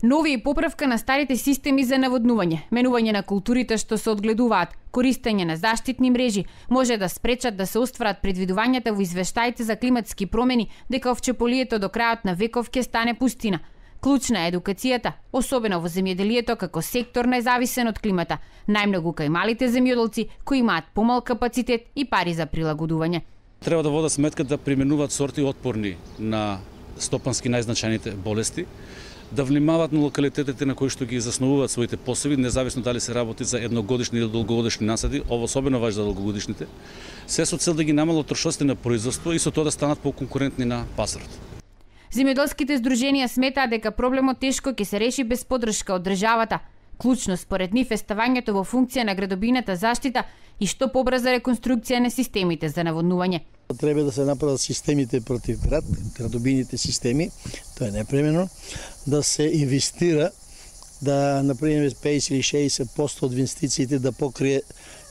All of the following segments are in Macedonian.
Нови и поправка на старите системи за наводнување, менување на културите што се одгледуваат, користење на заштитни мрежи може да спречат да се остварат предвидувањата во извештаите за климатски промени дека овчеполието до крајот на веков ќе стане пустина. Клучна е едукацијата, особено во земјоделието како сектор независен од климата, најмногу кај малите земјоделци кои имаат помал капацитет и пари за прилагодување. Треба да водат сметка да применуваат сорти отпорни на стопански најзначајните болести, да внимаваат на локалитетите на кои што ги заснувуваат своите посеви, независно дали се работи за едногодишни или долгогодишни насади, ова особено важи за долгогодишните, се со цел да ги намалат трошоците на производство и со тоа да станат поконкурентни на пазарот. Земјоделските здруженија сметаат дека проблемот тешко ќе се реши без поддршка од државата. Клучно според нив е ставањето во функција на градобината заштита и што побрза реконструкција на системите за наводнување. Треба да се направат системите против град, градобините системи, тоа е непремено, да се инвестира, да например 50 или 60% од инвестициите да покрие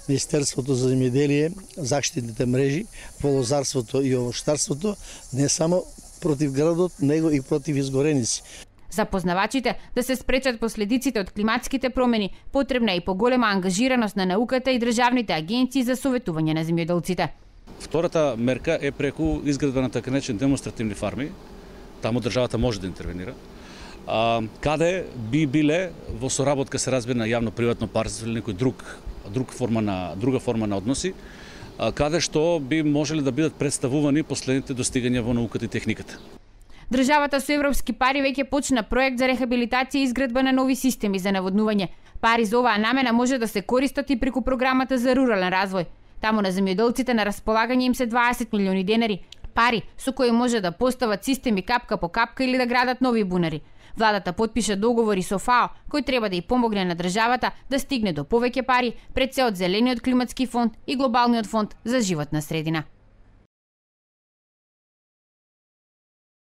Министерството за земјоделие, заштитните мрежи во лозарството и овощарството, не само против градот, него и против изгореници. За познавачите да се спречат последиците од климатските промени, потребна е и поголема ангажираност на науката и државните агенции за советување на земјоделците. Втората мерка е преку изградба на така наречени демонстративни фарми, таму државата може да интервенира, каде би биле во соработка се разбира на јавно-приватно партнерство или некој друга форма на односи, каде што би можеле да бидат представувани последните достигања во науката и техниката. Државата со европски пари веќе почна проект за рехабилитација и изградба на нови системи за наводнување. Пари за оваа намена може да се користат и преку програмата за рурален развој. Таму на земјоделците на располагање им се 20 милиони денари, пари со кои може да постават системи капка по капка или да градат нови бунари. Владата потпиша договори со ФАО, кој треба да ја помогне на државата да стигне до повеќе пари пред се од Зелениот климатски фонд и Глобалниот фонд за животна средина.